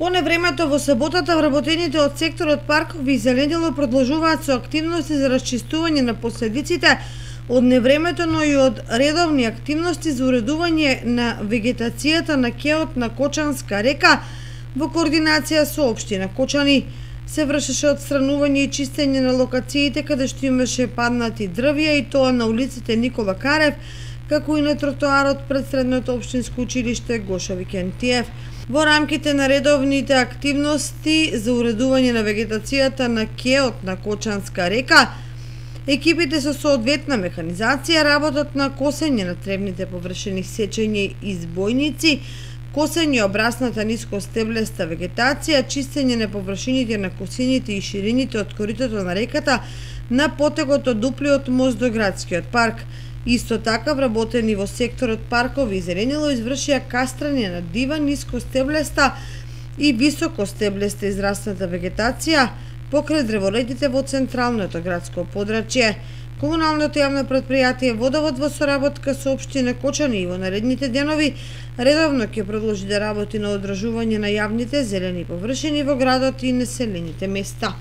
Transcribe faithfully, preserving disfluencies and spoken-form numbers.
По невремето во саботата вработените од секторот паркови и зеленило продолжуваат со активности за расчистување на последиците од невремето, но и од редовни активности за уредување на вегетацијата на кеот на Кочанска река во координација со општина Кочани. Се вршеше отстранување и чистење на локациите каде што имаше паднати дрвја, и тоа на улиците Никола Карев, како и на тротоарот пред средното општинско училиште Гоша Викентиев. Во рамките на редовните активности за уредување на вегетацијата на кеот на Кочанска река, екипите со соодветна механизација работат на косење на тревните површини, сечење избојници, косење обрасната нискостеблеста вегетација, чистење на површините на косините и ширините од коритото на реката на потегот од дуплиот мост до градскиот парк. Исто така вработени во секторот паркови и зеленило извршија кастрање на дива, нискостеблеста и високостеблеста израсната вегетација покрај дрворедите во централното градско подрачје. Комуналното јавно претпријатие Водовод во соработка со општина Кочани и во наредните денови редовно ќе продолжи да работи на одржување на јавните зелени површини во градот и населените места.